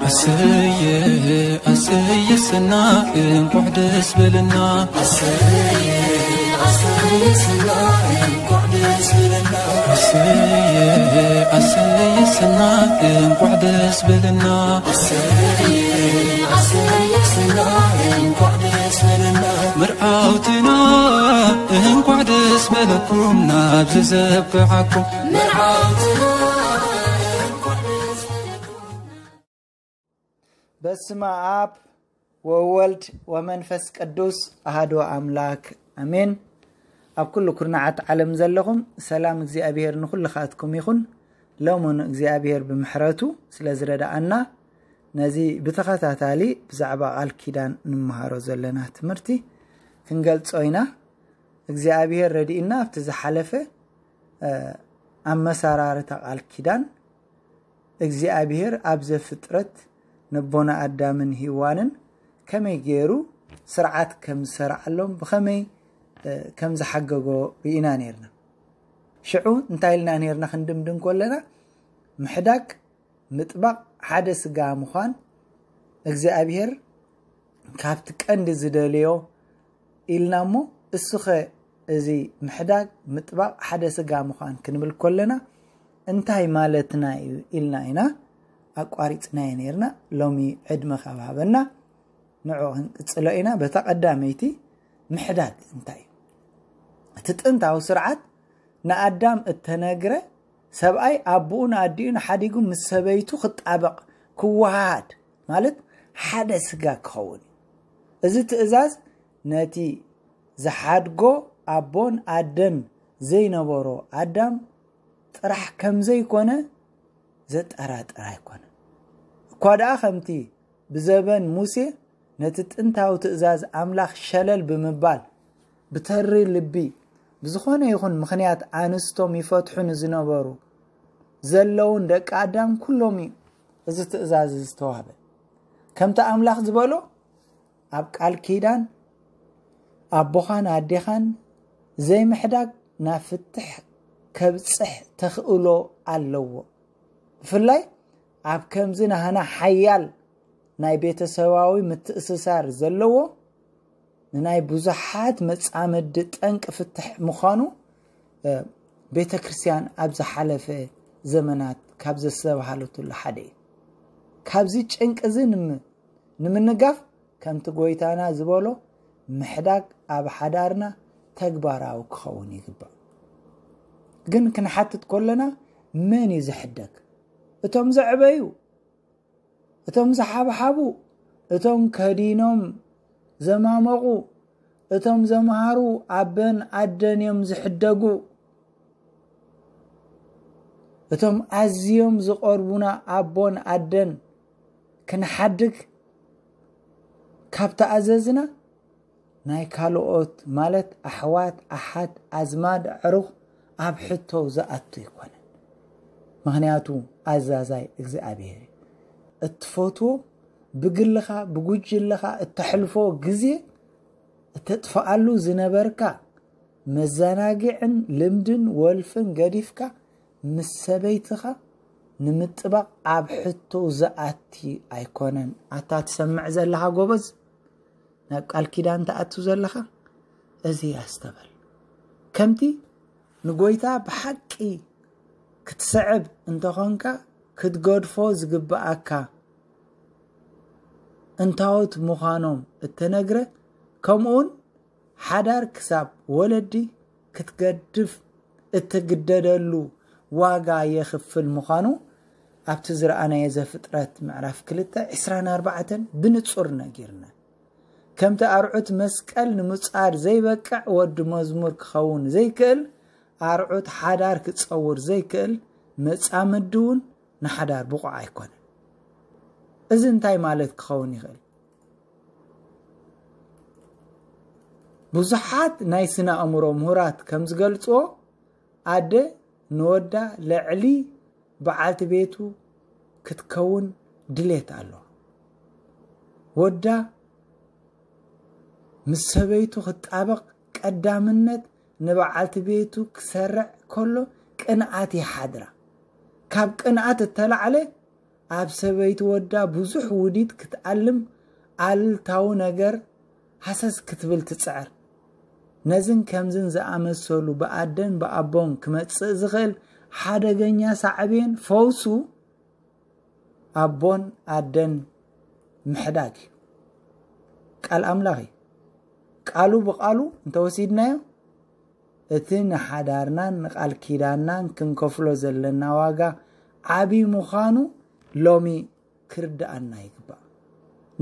ኣሰየ ኣሰየ ሰና እንኳዕ ደስ በለና። ኣሰየ ኣሰየ ሰና እንኳዕ ደስ በለና። ኣሰየ ኣሰየ ሰና እንኳዕ ደስ በለና። ኣሰየ ኣሰየ ሰና እንኳዕ ደስ በለና። መርዓውትና እንኳዕ ደስ በለኩም፣ ናብዚ ዘብቅዓኩም። መርዓውትና እንኳዕ ደስ በለኩም። በስመ አብ ወወልድ ወመንፈስ ቅዱስ አሐዱ አምላክ አሜን። ኣብ ኩሉ ኩርናዓት ዓለም ዘለኹም ሰላም እግዚኣብሔር ንኹልኻትኩም ይኹን። ሎሙን እግዚኣብሔር ብምሕረቱ ስለ ዝረድኣና ነዚ ብተኸታታሊ ብዛዕባ ቃል ኪዳን ንምሃሮ ዘለና ትምህርቲ ክንገልጾ ኢና። እግዚኣብሔር ረድእና ኣብቲ ዝሓለፈ፣ እ፣ ኣመሰራርታ ቃል ኪዳን እግዚኣብሔር ኣብ ዘፍጥረት ነቦና ኣዳምን ሄዋንን ከመይ ገይሩ ስርዓት ከም ዝሰርዓሎም፣ ብኸመይ፣ እ፣ ከም ዝሓገጎ ርኢና ነይርና። ሽዑ እንታይ ኢልና ነይርና ክንድምድም ከለና፣ ምሕዳግ፣ ምጥባቕ፣ ሓደ ስጋ ምዃን እግዚኣብሔር ካብቲ ቀንዲ ዝደልዮ ኢልና እሞ፣ እሱኸ እዚ ምሕዳግ፣ ምጥባቕ፣ ሓደ ስጋ ምዃን ክንብል ከለና እንታይ ማለትና እዩ ኢልና ኢና ኣቋሪጽናዮ ነይርና። ሎሚ ዕድመ ካብ ሃበና ንዕኡ ክንቅጽሎ ኢና። በታ ቀዳመይቲ ምሕዳግ እንታይ እዩ? እቲ ጥንታዊ ስርዓት ንኣዳም እተነግረ፣ ሰብኣይ ኣቦኡን ኣዲኡን ሓዲጉ ምስ ሰበይቱ ክጣበቕ፣ ክወሃሃድ፣ ማለት ሓደ ስጋ ክኸውን እዩ። እዚ ትእዛዝ ነቲ ዝሓድጎ ኣቦን ኣደን ዘይነበሮ ኣዳም ጥራሕ ከም ዘይኮነ ዘጠራጥር ኣይኮነን። እኳ ደኣ ከምቲ ብዘበን ሙሴ ነቲ ጥንታዊ ትእዛዝ ኣምላኽ ሸለል ብምባል፣ ብተሪ ልቢ፣ ብዝኾነ ይኹን ምኽንያት ኣንስቶም ይፈትሑ ንዝነበሩ ዘለውን ደቂ ኣዳም ኩሎም እዩ እዚ ትእዛዝ ዝተዋህበ። ከምቲ ኣምላኽ ዝበሎ፣ ኣብ ቃል ኪዳን ኣቦኻን ኣዴኻን ዘይምሕዳግ ናብ ፍትሕ ከብጽሕ ተኽእሎ ኣለዎ። ብፍላይ ኣብ ከምዚ ናህና ሓያል ናይ ቤተሰባዊ ምትእስሳር ዘለዎ፣ ንናይ ብዙሓት መጻምዲ ጠንቂ ፍትሕ ምዃኑ፣ እ፣ ቤተ ክርስቲያን ኣብ ዝሓለፈ ዘመናት ካብ ዘስተብሃለትሉ ሓደ እዩ። ካብዚ ጭንቂ እዚ ንም-፣ ንምንጋፍ፣ ከምቲ ጎይታና ዝበሎ፣ ምሕዳግ ኣብ ሓዳርና ተግባራዊ ክኸውን ይግባእ። ግን ክንሓትት ከለና፣ መን እዩ ዝሕደግ? እቶም ዘዕበዩ፣ እቶም ዝሓብሓቡ፣ እቶም ከዲኖም ዘማመቑ፣ እቶም ዘምሃሩ ኣቦን ኣደን እዮም ዝሕደጉ። እቶም ኣዝዮም ዝቐርቡና ኣቦን ኣደን ክንሓድግ ካብ ተኣዘዝና፣ ናይ ካልኦት፣ ማለት ኣሕዋት፣ ኣሓት፣ ኣዝማድ፣ ኣዕሩኽ ኣብ ሕቶ ዝኣቱ ኣይኮነን። ምኽንያቱ ኣዛዛይ እግዚኣብሔር እዩ። እትፈትዎ፣ ብግልኻ፣ ብጉጅለኻ እተሕልፎ ግዜ፣ እተጥፍኣሉ ዝነበርካ መዘናግዕን ልምድን ወልፍን ገዲፍካ፣ ምስ ሰበይትኻ ንምጥባቕ ኣብ ሕቶ ዝኣቲ ኣይኮነን። ኣታ ትሰምዕ ዘለኻ ጎበዝ፣ ናብ ቃል ኪዳን ትኣቱ ዘለኻ፣ እዚ ኣስተበል። ከምቲ ንጎይታ ብሓቂ ክትስዕብ እንተኾንካ፣ ክትገድፎ ዝግብኣካ እንታዎት ምዃኖም እተነግረ፣ ከምኡውን ሓዳር ክሳብ ወለዲ ክትገድፍ እትግደደሉ ዋጋ የኽፍል ምዃኑ ኣብቲ ዝረኣናዮ ዘፍጥረት ምዕራፍ ክልተ ዕስራን ኣርባዕተን ብንጹር ነጊርና። ከምቲ ኣርዑት መስቀል ንምጻድ ዘይበቅዕ፣ ወዲ መዝሙር ክኸውን ዘይክእል፣ ኣርዑት ሓዳር ክጸውር ዘይክእል፣ መጻምዲ እውን ንሓዳር ብቑዕ ኣይኮነን። እዚ እንታይ ማለት ክኸውን ይኽእል? ብዙሓት ናይ ስነ ኣእምሮ ምሁራት ከም ዝገልጽዎ፣ ኣደ ንወዳ ልዕሊ በዓልቲ ቤቱ ክትከውን ድሌት ኣሎ። ወዳ ምስ ሰበይቱ ክጣበቕ ቀዳምነት ንበዓልቲ ቤቱ ክሰርዕ ከሎ ቅንኣት ይሓድራ። ካብ ቅንኣት እተላዕለ ኣብ ሰበይቲ ወዳ ብዙሕ ውዲት ክትኣልም ኣልታዊ ነገር ሃሰስ ክትብል ትጽዕር። ነዝን ከምዝን ዝኣመሰሉ ብኣደን ብኣቦን ክመጽእ ዝኽእል ሓደገኛ ሳዕቤን ፈውሱ ኣቦን ኣደን ምሕዳግ እዩ። ቃል ኣምላኽ እዩ። ቃሉ ብቓሉ እንተወሲድናዮ እቲ ንሓዳርናን ንቃል ኪዳንናን ክንከፍሎ ዘለና ዋጋ ዓቢ ምዃኑ ሎሚ ክርድኣና ይግባእ።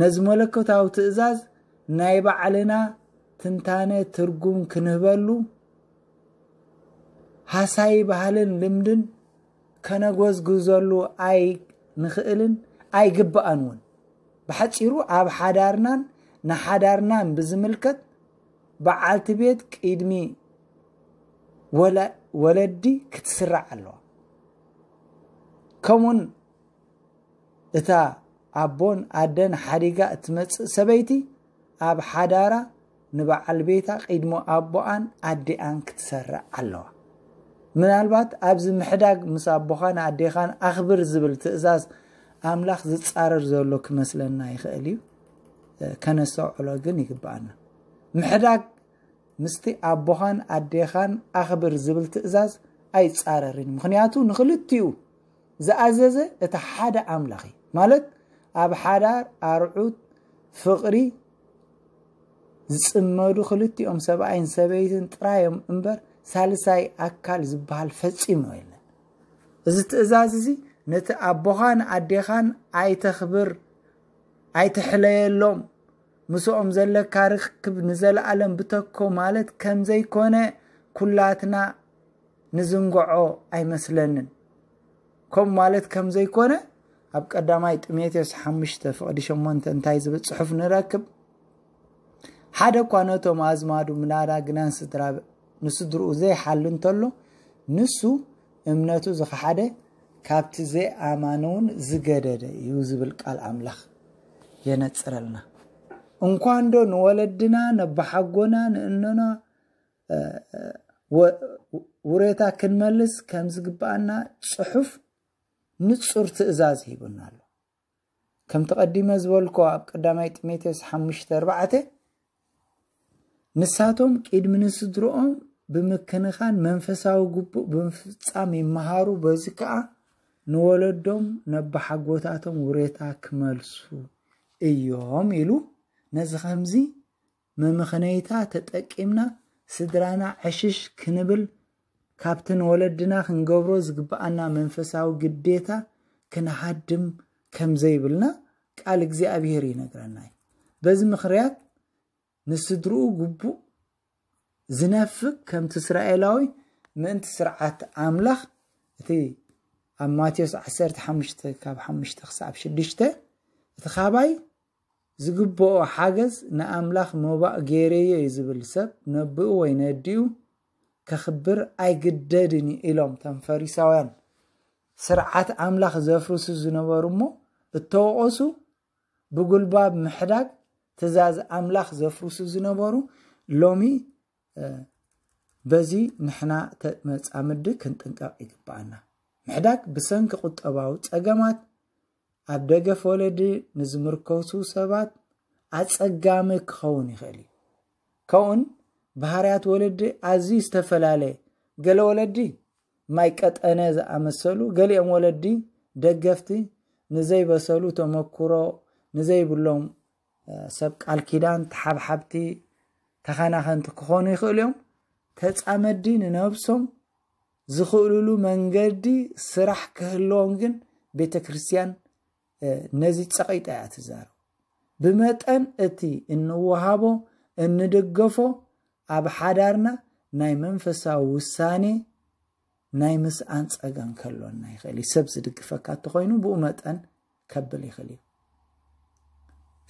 ነዚ መለኮታዊ ትእዛዝ ናይ ባዕልና ትንታነ ትርጉም ክንህበሉ ሃሳይ ባህልን ልምድን ከነጎዝጉዘሉ ኣይንኽእልን ኣይግባእን እውን። ብሓጺሩ ኣብ ሓዳርናን ንሓዳርናን ብዝምልከት በዓልቲ ቤት ቅድሚ ወለ- ወለዲ ክትስራዕ ኣለዋ። ከምኡን እታ ኣቦን ኣደን ሓዲጋ እትመጽእ ሰበይቲ ኣብ ሓዳራ ንበዓል ቤታ ቅድሚ ኣቦኣን ኣዴኣን ክትሰርዕ ኣለዋ። ምናልባት ኣብዚ ምሕዳግ ምስ ኣቦኻን ኣዴኻን ኣኽብር ዝብል ትእዛዝ ኣምላኽ ዝጻረር ዘሎ ክመስለና ይኽእል እዩ። ከነስተውዕሎ ግን ይግብኣና። ምሕዳግ ምስቲ ኣቦኻን ኣዴኻን ኣኽብር ዝብል ትእዛዝ ኣይጻረርን። ምኽንያቱ ንኽልቲኡ ዝኣዘዘ እቲ ሓደ ኣምላኽ እዩ። ማለት ኣብ ሓዳር ኣርዑት ፍቕሪ ዝጽመዱ ክልቲኦም ሰብኣይን ሰበይትን ጥራዮም እምበር ሳልሳይ ኣካል ዝበሃል ፈጺሙ የለን። እዚ ትእዛዝ እዚ ነቲ ኣቦኻን ኣዴኻን ኣይተኽብር፣ ኣይትሕለየሎም፣ ምስኦም ዘለካ ርክብ ንዘለኣለም ብተኮ ማለት ከም ዘይኮነ ኩላትና ንዝንግዖ ኣይመስለንን። ከምኡ ማለት ከም ዘይኮነ ኣብ ቀዳማይ ጢሞቴዎስ ሓሙሽተ ፍቕዲ ሸሞንተ እንታይ ዝብል ጽሑፍ ንረክብ? ሓደ እኳ ነቶም ኣዝማዱ ምናዳ ግናን ስድራ ንስድርኡ ዘይሓሉ እንተሎ ንሱ እምነቱ ዝኸሓደ ካብቲ ዘይኣማን እውን ዝገደደ እዩ ዝብል ቃል ኣምላኽ የነጽረልና። እንኳን ዶ ንወለድና ነባሓጎና ንእኖና ውሬታ ክንመልስ ከም ዝግብኣና ጽሑፍ ንጹር ትእዛዝ ሂቡና ኣሎ። ከም ተቐዲመ ዝበልኮ ኣብ ቀዳማይ ጢሞቴዎስ ሓሙሽተ ኣርባዕተ ንሳቶም ቅድሚ ንስድርኦም ብምክንኻን መንፈሳዊ ግቡእ ብምፍጻም ይመሃሩ፣ በዚ ከኣ ንወለዶም ነባሓጎታቶም ውሬታ ክመልሱ እዮም ኢሉ ነዚ ከምዚ መምኸነይታ ተጠቂምና ስድራና ዕሽሽ ክንብል ካብቲ ንወለድና ክንገብሮ ዝግብኣና መንፈሳዊ ግዴታ ክንሃድም ከም ዘይብልና ቃል እግዚኣብሔር ይነግረና እዩ። በዚ ምኽንያት ንስድርኡ ግቡእ ዝነፍግ ከምቲ እስራኤላዊ ምእንቲ ስርዓት ኣምላኽ እቲ ኣብ ማቴዎስ ዓሰርተ ሓሙሽተ ካብ ሓሙሽተ ክሳብ ሽዱሽተ እቲ ካባይ ዝግብኦ ሓገዝ ንኣምላኽ መባእ ገይረዮ እዩ ዝብል ሰብ ነብኡ ወይ ነዲኡ ከኽብር ኣይግደድን እዩ ኢሎም እቶም ፈሪሳውያን ስርዓት ኣምላኽ ዘፍርሱ ዝነበሩ እሞ እተወቐሱ ብጉልባብ ምሕዳግ ትእዛዝ ኣምላኽ ዘፍርሱ ዝነበሩ ሎሚ በዚ ንሕና መጻምዲ ክንጥንቀቕ ይግብኣና። ምሕዳግ ብሰንኪ ቁጠባዊ ጸገማት ኣብ ደገፍ ወለዲ ንዝምርከሱ ሰባት ኣጸጋሚ ክኸውን ይኽእል እዩ። ከምኡን ባህርያት ወለዲ ኣዝዩ ዝተፈላለየ። ገለ ወለዲ ማይ ቀጠነ ዝኣመሰሉ፣ ገሊኦም ወለዲ ደገፍቲ፣ ንዘይበሰሉ፣ ተመክሮ ንዘይብሎም ሰብ ቃል ኪዳን፣ ተሓብሓብቲ፣ ተኸናኸንቲ ክኾኑ ይኽእሉ እዮም። ተጻመዲ ንነብሶም ዝኽእሉሉ መንገዲ ስራሕ ክህልዎም ግን ቤተ ክርስቲያን ነዚ ጸቒጣ እያ ትዛረብ። ብመጠን እቲ እንወሃቦ እንድገፎ ኣብ ሓዳርና ናይ መንፈሳዊ ውሳኔ ናይ ምስኣን ጸገም ከሎና ይኽእል እዩ። ሰብ ዝድግፈካ እንተኾይኑ ብኡ መጠን ከብል ይኽእል እዩ።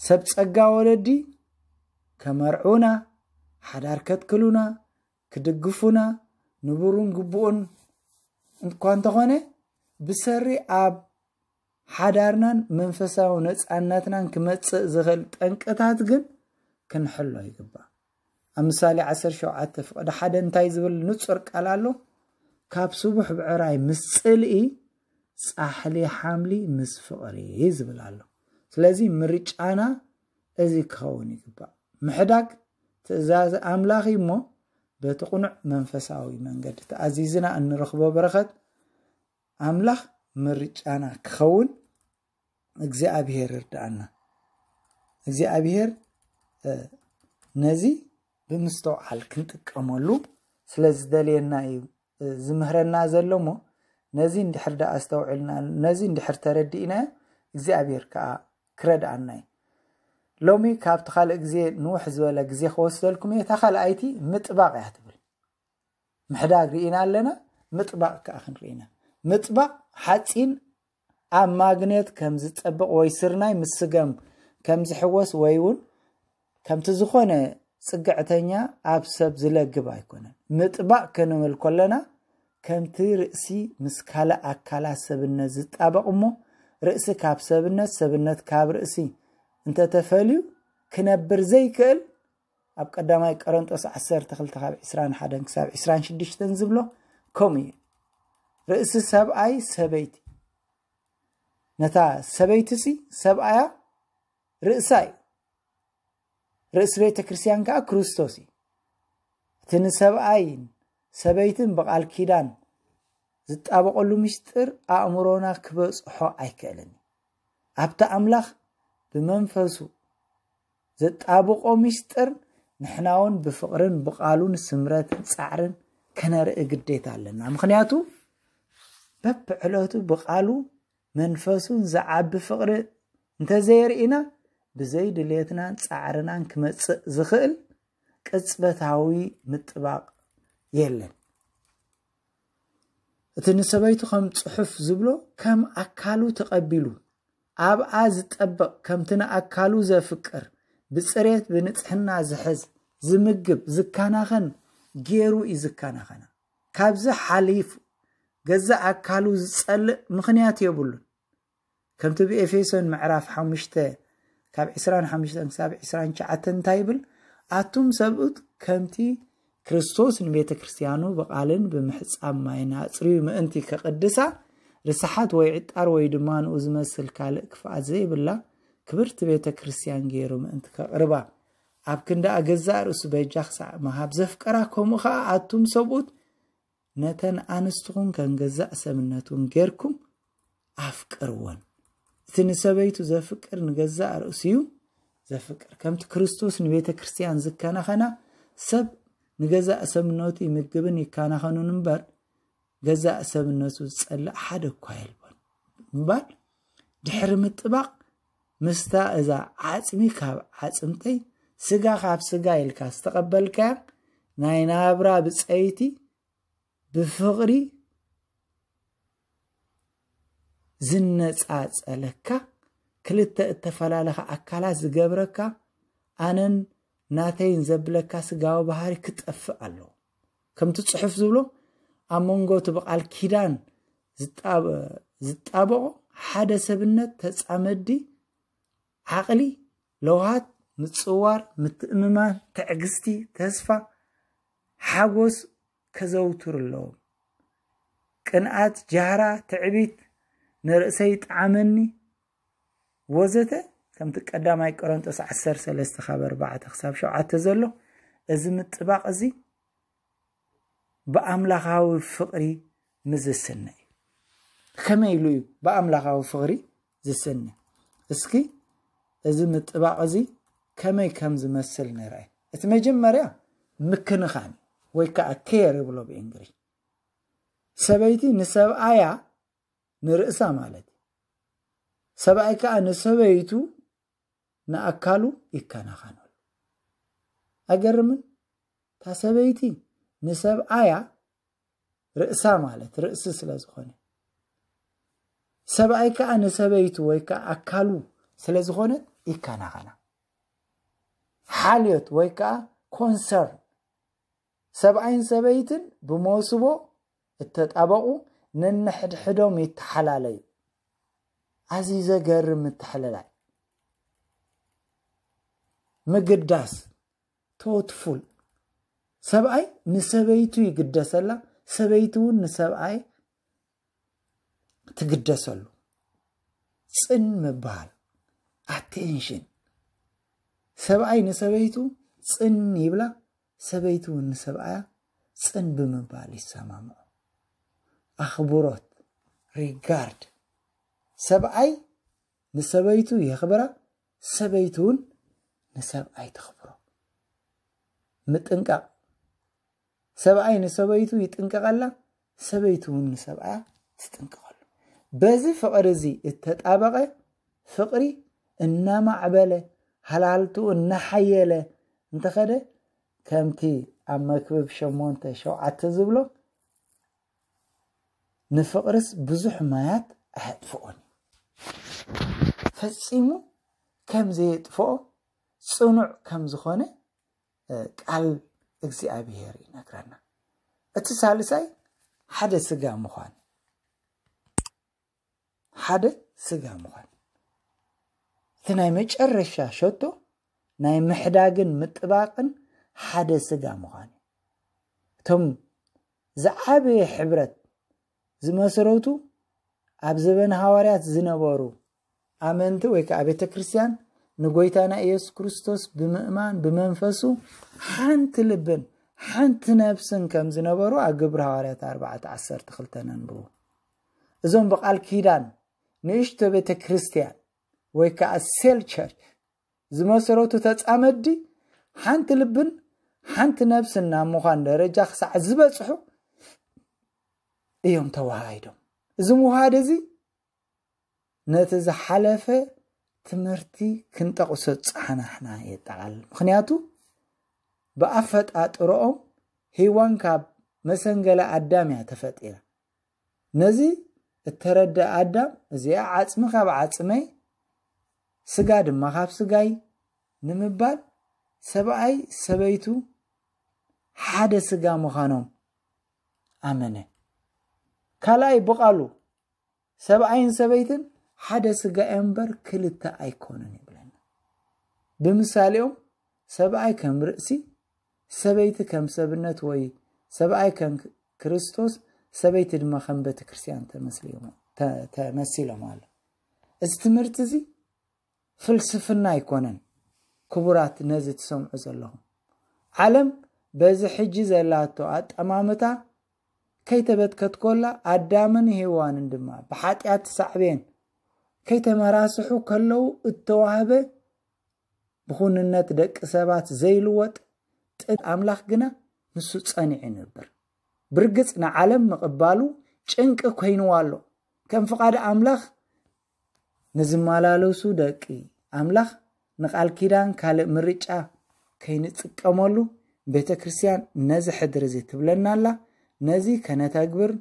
ሰብ ጸጋ ወለዲ ከመርዑና፣ ሓዳር ከትክሉና፣ ክድግፉና፣ ንቡሩን ግቡኡን እኳ እንተኾነ፣ ብሰሪ ኣብ ሓዳርናን መንፈሳዊ ነፃነትናን ክመፅእ ዝኽእል ጠንቅታት ግን ክንሕሎ ይግባእ። ኣብ ምሳሌ ዓሰርተ ሸውዓተ ፍቕዲ ሓደ እንታይ ዝብል ንፁር ቃል ኣሎ? ካብ ስቡሕ ብዕራይ ምስ ፅልኢ ፃሕሊ ሓምሊ ምስ ፍቕሪ ዝብል ኣሎ። ስለዚ ምርጫና እዚ ክኸውን ይግባእ። ምሕዳግ ትእዛዝ ኣምላኽ እዩ እሞ፣ በቲ ቅኑዕ መንፈሳዊ መንገዲ ተኣዚዝና እንረኽቦ በረኸት ኣምላኽ ምርጫና ክኸውን እግዚኣብሔር ይርዳኣና። እግዚኣብሔር ነዚ ብምስተውዓል ክንጥቀመሉ ስለ ዝደልየና እዩ ዝምህረና ዘሎ እሞ፣ ነዚ እንድሕር ደኣ ኣስተውዕልና፣ ነዚ እንድሕር ተረዲእናዮ እግዚኣብሔር ከዓ ክረድኣና እዩ። ሎሚ ካብቲ ካልእ ግዜ ንውሕ ዝበለ ግዜ ክወስደልኩም እየ። እታ ካልኣይቲ ምጥባቕ እያ ትብል። ምሕዳግ ርኢና ኣለና፣ ምጥባቕ ከዓ ክንርኢና። ምጥባቕ ሓፂን ኣብ ማግኔት ከም ዝጠብቕ ወይ ስርናይ ምስ ስገም ከም ዝሕወስ ወይ እውን ከምቲ ዝኾነ ፅግዕተኛ ኣብ ሰብ ዝለግብ ኣይኮነን። ምጥባቕ ክንብል ከለና ከምቲ ርእሲ ምስ ካልእ ኣካላት ሰብነት ዝጣበቕ እሞ ርእሲ ካብ ሰብነት፣ ሰብነት ካብ ርእሲ እንተተፈልዩ ክነብር ዘይክእል ኣብ ቀዳማይ ቆሮንጦስ ዓሰርተ ክልተ ካብ ዕስራን ሓደን ክሳብ ዕስራን ሽዱሽተን ዝብሎ ከምኡ እዩ። ርእሲ ሰብኣይ ሰበይቲ፣ ነታ ሰበይትሲ ሰብኣያ ርእሳ እዩ። ርእሲ ቤተ ክርስቲያን ከዓ ክርስቶስ እዩ። እቲ ንሰብኣይን ሰበይትን ብቓል ኪዳን ዝጣበቐሉ ምስጢር ኣእምሮና ክበጽሖ ኣይክእልን እዩ። ኣብቲ ኣምላኽ ብመንፈሱ ዘጣብቆ ምስጢር ንሕና እውን ብፍቕርን ብቓሉን ስምረትን ጻዕርን ከነርኢ ግዴታ ኣለና። ምኽንያቱ በብዕለቱ ብቓሉ መንፈሱን ዝዓቢ ፍቕሪ እንተዘየርኢና ብዘይ ድሌትናን ጻዕርናን ክመጽእ ዝኽእል ቅጽበታዊ ምጥባቕ የለን። እቲ ንሰበይቱ ከም ጽሑፍ ዝብሎ ከም ኣካሉ ተቐቢሉ ኣብኣ ዝጠብቕ፣ ከምቲ ንኣካሉ ዘፍቅር፣ ብጽሬት ብንጽሕና ዝሕዝ፣ ዝምግብ፣ ዝከናኸን ገይሩ እዩ ዝከናኸና። ካብዚ ሓሊፉ ገዛእ ኣካሉ ዝጸልእ ምኽንያት የብሉን። ከምቲ ብኤፌሶን ምዕራፍ ሓሙሽተ ካብ ዕስራን ሓሙሽተን ክሳብ ዕስራን ትሽዓተን እንታይ ይብል? ኣቱም ሰብኡት ከምቲ ክርስቶስ ንቤተ ክርስቲያኑ ብቓልን ብምሕጻብ ማይን ኣጽርዩ ምእንቲ ከቕድሳ ርስሓት ወይ ዕጣር ወይ ድማ ንኡ ዝመስል ካልእ ክፍኣት ዘይብላ ክብርቲ ቤተ ክርስቲያን ገይሩ ምእንቲ ከቕርባ ኣብ ክንዲ ኣገዛእ ርእሱ በጃ ክሳዕ ምሃብ ዘፍቀራ ከምኡ ኸኣ ኣቱም ሰብኡት ነተን ኣንስትኹም ከም ገዛእ ሰብነቱን ጌርኩም ኣፍቅርወን። እቲ ንሰበይቱ ዘፍቅር ንገዛእ ርእሱ እዩ ዘፍቅር። ከምቲ ክርስቶስ ንቤተ ክርስቲያን ዝከናኸና ሰብ ንገዛእ ሰብነቱ ይምግብን ይከናኸኑን እምበር ገዛእ ሰብነቱ ዝጸልእ ሓደ እኳ የልቦን። እምበር ድሕሪ ምጥባቕ ምስታ እዛ ዓጽሚ ካብ ዓጽምተይ ስጋ ካብ ስጋ ኢልካ ዝተቐበልካያ ናይ ናብራ ብጸይቲ ብፍቕሪ ዝነጻጸለካ ክልተ እተፈላለኻ ኣካላት ዝገብረካ ኣነን ናተይን ዘብለካ ስጋዊ ባህሪ ክጠፍእ ኣለዎ። ከምቲ ጽሑፍ ዝብሎ ኣብ መንጎ እቲ ብቓል ኪዳን ዝጣበ- ዝጣበቖ ሓደ ሰብነት ተጻመዲ ዓቕሊ፣ ለውሃት፣ ምጽዋር፣ ምትእምማን፣ ትዕግስቲ፣ ተስፋ፣ ሓጎስ ከዘውትሩ ኣለዎም። ቅንኣት፣ ጃህራ፣ ትዕቢት፣ ንርእሰይ ይጥዓመኒ ወዘተ ከምቲ ቀዳማይ ቆሮንጦስ ዓሰርተ ሰለስተ ካብ ኣርባዕተ ክሳብ ሸውዓተ ዘሎ እዚ ምጥባቕ እዚ ብኣምላኻዊ ፍቕሪ ምዝስነ እዩ። ከመይ ኢሉ እዩ ብኣምላኻዊ ፍቕሪ ዝስነ? እስኪ እዚ ምጥባቕ እዚ ከመይ ከም ዝመስል ንርኣይ። እቲ መጀመርያ ምክንኻን ወይ ከዓ ኬር ይብሎ ብእንግሊሽ። ሰበይቲ ንሰብኣያ ንርእሳ ማለት እዩ። ሰብኣይ ከዓ ንሰበይቱ ንኣካሉ ይከናኸነሉ። ኣገርምን? እታ ሰበይቲ ንሰብኣያ ርእሳ ማለት ርእሲ ስለ ዝኾነ፣ ሰብኣይ ከዓ ንሰበይቱ ወይ ከዓ ኣካሉ ስለ ዝኾነ ይከናኸና። ሓልዮት ወይ ከዓ ኮንሰርን ሰብኣይን ሰበይትን ብመውስቦ እተጣበቑ፣ ነንሕድሕዶም ይተሓላለዩ። ኣዝዩ ዘገርም ምትሕልላይ። ምግዳስ፣ ቶትፉል። ሰብኣይ ንሰበይቱ ይግደሰላ፣ ሰበይቲ እውን ንሰብኣይ ትግደሰሉ። ጽን ምባል፣ ኣቴንሽን። ሰብኣይ ንሰበይቱ ጽን ይብላ፣ ሰበይቲ እውን ንሰብኣያ ጽን ብምባል ይሰማምዑ። ኣኽብሮት፣ ሪጋርድ። ሰብኣይ ንሰበይቱ የኽብራ፣ ሰበይቲ እውን ንሰብኣይ ተኽብሮ። ምጥንቃቕ። ሰብኣይ ንሰበይቱ ይጥንቀቐላ፣ ሰበይቲ እውን ንሰብኣያ ትጥንቀቐሉ። በዚ ፍቕሪ እዚ እተጣበቐ ፍቕሪ እናማዕበለ፣ ሃላልትኡ እናሓየለ እንተኸደ፣ ከምቲ ኣብ መክብብ ሸሞንተ ሸውዓተ ዝብሎ፣ ንፍቕርስ ብዙሕ ማያት ኣየጥፍኦን እዩ። ፈጺሙ ከም ዘየጥፍኦ፣ ጽኑዕ ከም ዝኾነ፣ እ፣ ቃል እግዚኣብሔር ይነግረና። እቲ ሳልሳይ ሓደ ስጋ ምዃን። ሓደ ስጋ ምዃን። እቲ ናይ መጨረሻ ሸቶ ናይ ምሕዳግን ምጥባቕን ሓደ ስጋ ምዃን እዩ። እቶም ዝዓበየ ሕብረት ዝመሰረቱ ኣብ ዘበን ሃዋርያት ዝነበሩ ኣመንቲ ወይ ከዓ ቤተ ክርስቲያን ንጎይታና ኢየሱስ ክርስቶስ ብምእማን ብመንፈሱ ሓንቲ ልብን ሓንቲ ነፍስን ከም ዝነበሩ ኣብ ግብሪ ሃዋርያት ኣርባዕተ ዓሰርተ ክልተ ነንብቡ። እዞም ብቃል ኪዳን ንእሽቶ ቤተ ክርስቲያን ወይ ከዓ ሴል ቸርች ዝመሰረቱ ተጻመዲ ሓንቲ ልብን ሓንቲ ነፍስን ናብ ምዃን ደረጃ ክሳዕ ዝበጽሑ እዮም ተወሃሂዶም። እዚ ምውሃድ እዚ ነቲ ዝሓለፈ ትምህርቲ ክንጠቕሶ ዝጸሓናሕና የጠቓልል። ምኽንያቱ ብኣፈጣጥሮኦም ሄዋን ካብ መሰንገለ ኣዳም እያ ተፈጢራ። ነዚ እተረድአ ኣዳም፣ እዚኣ ዓጽሚ ካብ ዓጽመይ፣ ስጋ ድማ ካብ ስጋይ ንምባል ሰብኣይ ሰበይቱ ሓደ ስጋ ምዃኖም ኣመነ። ካልኣይ ብቓሉ ሰብኣይን ሰበይትን ሓደ ስጋ እዮም እምበር ክልተ ኣይኮኑን ይብለና። ብምሳሌኦም ሰብኣይ ከም ርእሲ፣ ሰበይቲ ከም ሰብነት ወይ ሰብኣይ ከም ክርስቶስ፣ ሰበይቲ ድማ ከም ቤተ ክርስቲያን ተመስሊዮም-፣ ተ-፣ ተመሲሎም ኣሎ። እዚ ትምህርቲ እዚ ፍልስፍና ኣይኮነን። ክቡራት ነዚ ትሰምዑ ዘለኹም፣ ዓለም በዚ ሕጂ ዘላቶ ኣጠማምታ ከይተበትከት ኮላ ኣዳምን ሄዋንን ድማ ብሓጢኣት ተሳዕቤን ከይተመራስሑ ከለዉ እተዋህበ ብኹንነት ደቂ ሰባት ዘይልወጥ ጥንቲ ኣምላኽ ግና ንሱ ጸኒዑ ይነብር። ብርግጽ ንዓለም ምቕባሉ ጭንቂ ኮይንዋ ኣሎ። ከም ፍቓድ ኣምላኽ ንዝመላለሱ ደቂ ኣምላኽ ንቃል ኪዳን ካልእ ምርጫ ከይንጥቀመሉ ቤተ ክርስቲያን ነዚ ሕድሪ እዚ ትብለና ኣላ። ነዚ ከነተግብር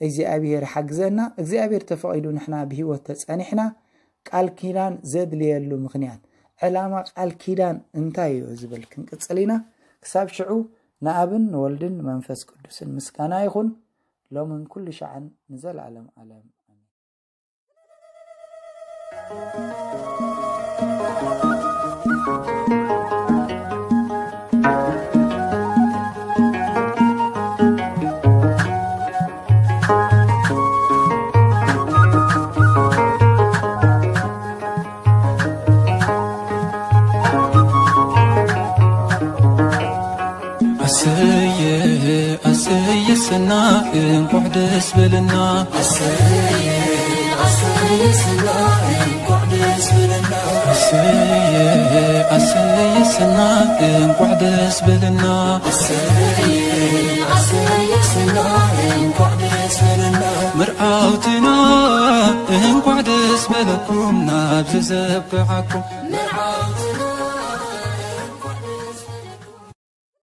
እግዚኣብሔር ይሓግዘና። እግዚኣብሔር ተፈቒዱ ንሕና ብህይወት ተጸኒሕና ቃል ኪዳን ዘድልየሉ ምኽንያት፣ ዕላማ ቃል ኪዳን እንታይ እዩ ዝብል ክንቅጽል ኢና። ክሳብ ሽዑ ንኣብን ንወልድን ንመንፈስ ቅዱስን ምስጋና ይኹን ሎምን ኩሉ ሻዕን ንዘለዓለም ዓለም። ኣሰየ ኣሰየ ሰና እንኳዕ ደስ በለና። ኣሰየ ኣሰየ ሰና እንኳዕ ደስ በለና። ኣሰየ ኣሰየ ሰና እንኳዕ ደስ በለና። ኣሰየ ኣሰየ ሰና እንኳዕ ደስ በለና። መርዓውትና እንኳዕ ደስ በለኩም፣ ናብዚ ዘብቅዓኩም። መርዓውትና